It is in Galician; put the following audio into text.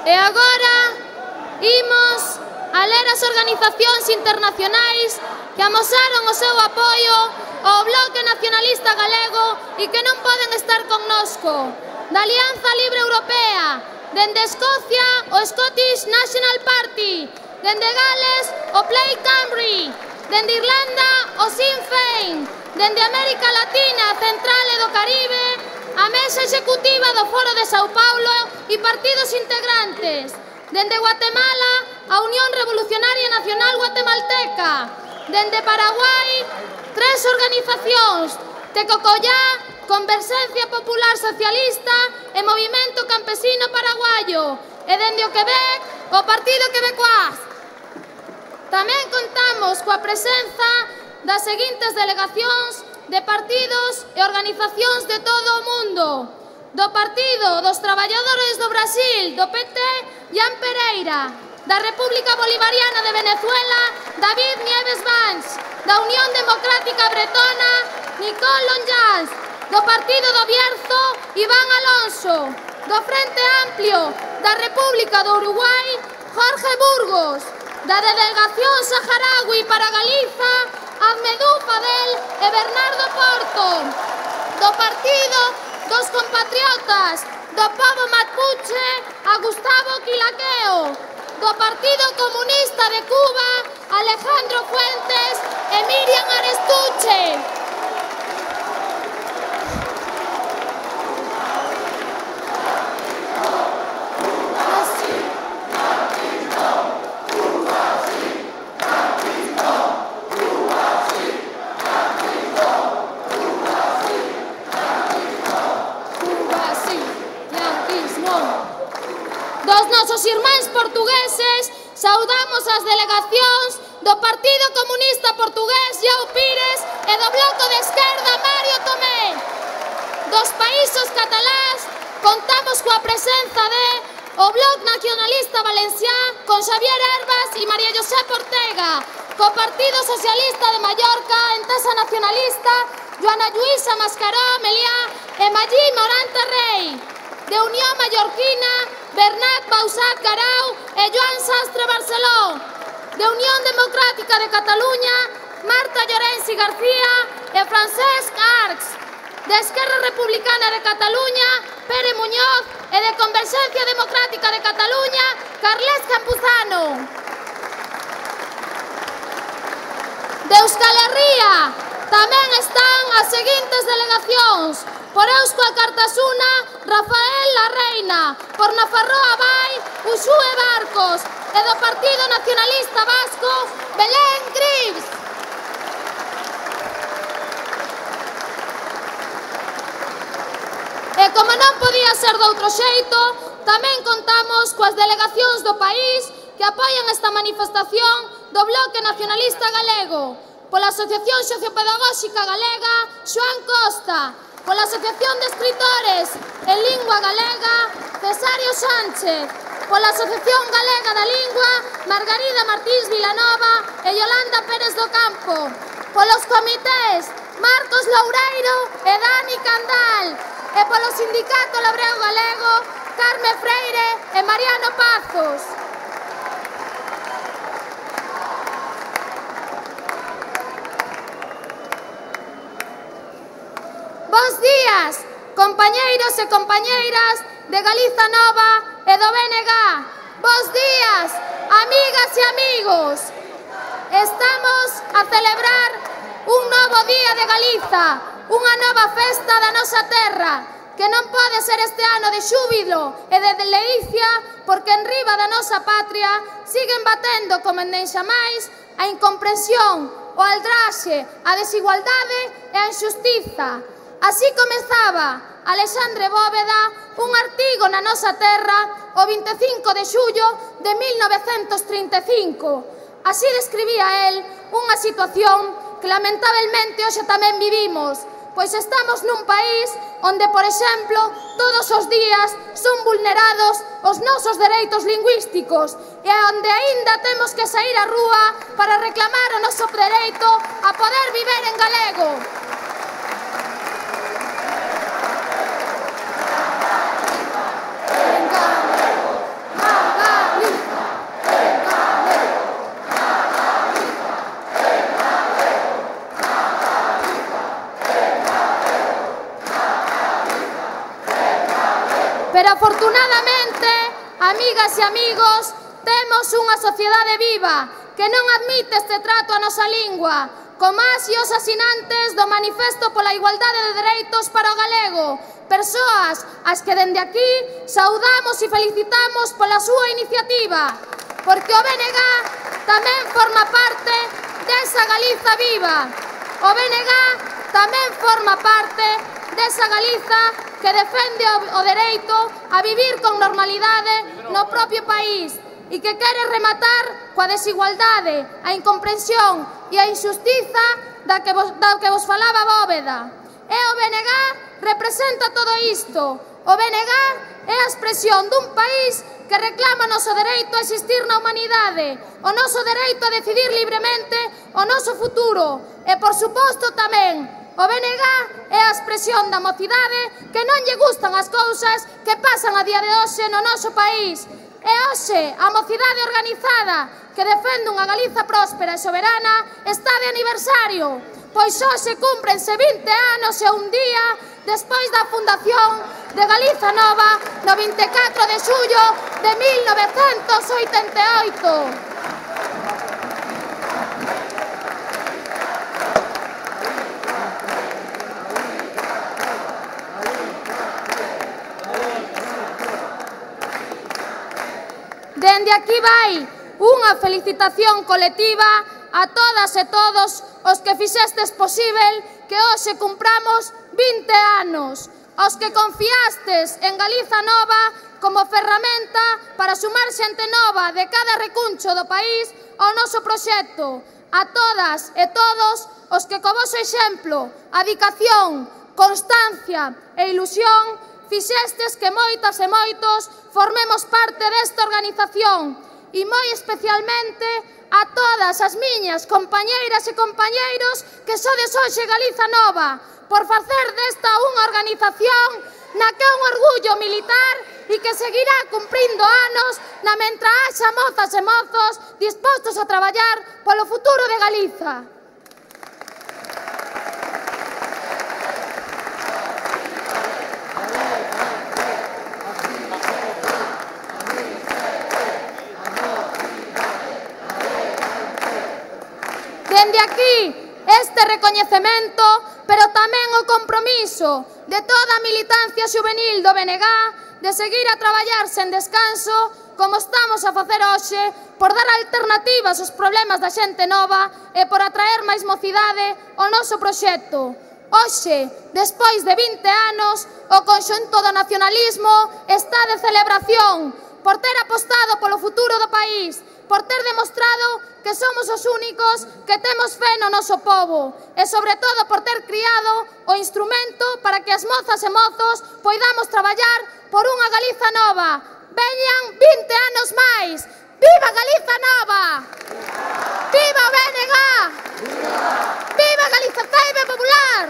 E agora imos a ler as organizacións internacionais que amosaron o seu apoio ao Bloque Nacionalista Galego e que non poden estar connosco. Da Alianza Libre Europea, dende Escocia, o Scottish National Party, dende Gales, o Plaid Cymru, dende Irlanda, o Sinn Féin, dende América Latina, Central e do Caribe, a Mesa Executiva do Foro de Sao Paulo e partidos integrantes, dende Guatemala, a Unión Revolucionaria Nacional Guatemalteca, dende Paraguai, 3 organizacións, Tecocollá, Converxencia Popular Socialista e Movimento Campesino Paraguayo, e dende o Quebec, o Partido Quebecois. Tamén contamos coa presenza das seguintes delegacións de partidos e organizacións de todo o mundo. Do Partido dos Traballadores do Brasil, do PT, Jan Pereira. Da República Bolivariana de Venezuela, David Nieves Vance. Da Unión Democrática Bretona, Nicole Lonjans. Do Partido do Bierzo, Iván Alonso. Do Frente Amplio da República do Uruguai, Jorge Burgos. Da Delegación Saharaui para Galiza, Ahmedou Fadel e Bernardo Porto. Do Partido dos Compatriotas do Pobo Mapuche, a Gustavo Quilaqueo. Do Partido Comunista de Cuba, Alejandro Fuentes e Miriam Arestuche. Dos nosos irmáns portugueses, saudamos as delegacións do Partido Comunista Portugués, João Pires, e do Bloco de Esquerda, Mario Tomé. Dos países cataláns, contamos coa presenza de o Bloc Nacionalista Valencià, con Xavier Herbas e María José Ortega, co Partido Socialista de Mallorca, Entesa Nacionalista, Joana Lluïsa Mascaró Meliá e Magí Morante Rei. De Unión Mallorquina, Bernat Bausat Garau e Joan Sastre Barceló. De Unión Democrática de Cataluña, Marta Llorenci García e Francesc Arcs. De Esquerra Republicana de Cataluña, Pere Muñoz, e de Converxencia Democrática de Cataluña, Carles Campuzano. De Euskal Herria tamén están as seguintes delegacións: por Eusko Alkartasuna, Rafael Larreina; por Nafarroa Bai, Uxue Barcos; e do Partido Nacionalista Vasco, Belén Grives. E como non podía ser de outro xeito, tamén contamos coas delegacións do país que apoian esta manifestación do Bloque Nacionalista Galego, pola Asociación Sociopedagóxica Galega, Xoán Costa; pola Asociación de Escritores en Lingua Galega, Cesario Sánchez; pola Asociación Galega da Lingua, Margarida Martins Vilanova e Yolanda Pérez do Campo; polos comités Marcos Loureiro e Dani Candal; e polo Sindicato Labrego Galego, Carme Freire e Mariano Pazos. Bos días, compañeiros e compañeiras de Galiza Nova e do BNG. Bos días, amigas e amigos. Estamos a celebrar un novo día de Galiza, unha nova festa da nosa terra, que non pode ser este ano de xúbilo e de delicia, porque en riba da nosa patria siguen batendo como en xamais a incomprensión, o aldraxe, a desigualdade e a injustiza. Así comezaba Alexandre Bóveda un artigo na nosa terra o 25 de xullo de 1935. Así describía el unha situación que lamentablemente hoxe tamén vivimos, pois estamos nun país onde, por exemplo, todos os días son vulnerados os nosos dereitos lingüísticos e onde aínda temos que sair á rúa para reclamar o noso dereito a poder viver en galego. En galego, Pero afortunadamente, amigas e amigos, temos unha sociedade viva que non admite este trato a nosa lingua, como as e os asinantes do Manifesto pola Igualdade de Dereitos para o Galego, persoas as que dende aquí saudamos e felicitamos pola súa iniciativa, porque o BNG tamén forma parte desa Galiza viva. O BNG tamén forma parte desa Galiza que defende o dereito a vivir con normalidade no propio país e que quere rematar coa desigualdade, a incomprensión e a injustiza da que vos falaba Bóveda. E o BNG representa todo isto. O BNG é a expresión dun país que reclama o noso dereito a existir na humanidade, o noso dereito a decidir libremente o noso futuro e, por suposto, tamén o BNG é a expresión da mocidade que non lle gustan as cousas que pasan a día de hoxe no noso país. E hoxe a mocidade organizada que defende unha Galiza próspera e soberana está de aniversario, pois hoxe cúmprense 20 anos e un día despois da fundación de Galiza Nova no 24 de xullo de 1988. Dende aquí vai unha felicitación colectiva a todas e todos os que fixestes posíbel que hoxe cumpramos 20 anos, aos que confiastes en Galiza Nova como ferramenta para sumar xente nova de cada recuncho do país ao noso proxecto, a todas e todos os que co voso exemplo, adicación, constancia e ilusión fixestes que moitas e moitos formemos parte desta organización e moi especialmente a todas as miñas compañeiras e compañeiros que sodes hoxe Galiza Nova por facer desta unha organización na que é un orgullo militar e que seguirá cumprindo anos na mentre haxa mozas e mozos dispostos a traballar polo futuro de Galiza. Dende aquí, este recoñecemento, pero tamén o compromiso de toda a militancia xuvenil do BNG de seguir a traballar sen descanso, como estamos a facer hoxe, por dar alternativas aos problemas da xente nova e por atraer máis mocidade ao noso proxecto. Hoxe, despois de 20 anos, o conxunto do nacionalismo está de celebración por ter apostado polo futuro do país, por ter demostrado que somos os únicos que temos fe no noso povo e, sobre todo, por ter criado o instrumento para que as mozas e mozos poidamos traballar por unha Galiza Nova. Veñan 20 anos máis. Viva Galiza Nova! Viva o BNG! Viva Galiza Ceibe Popular!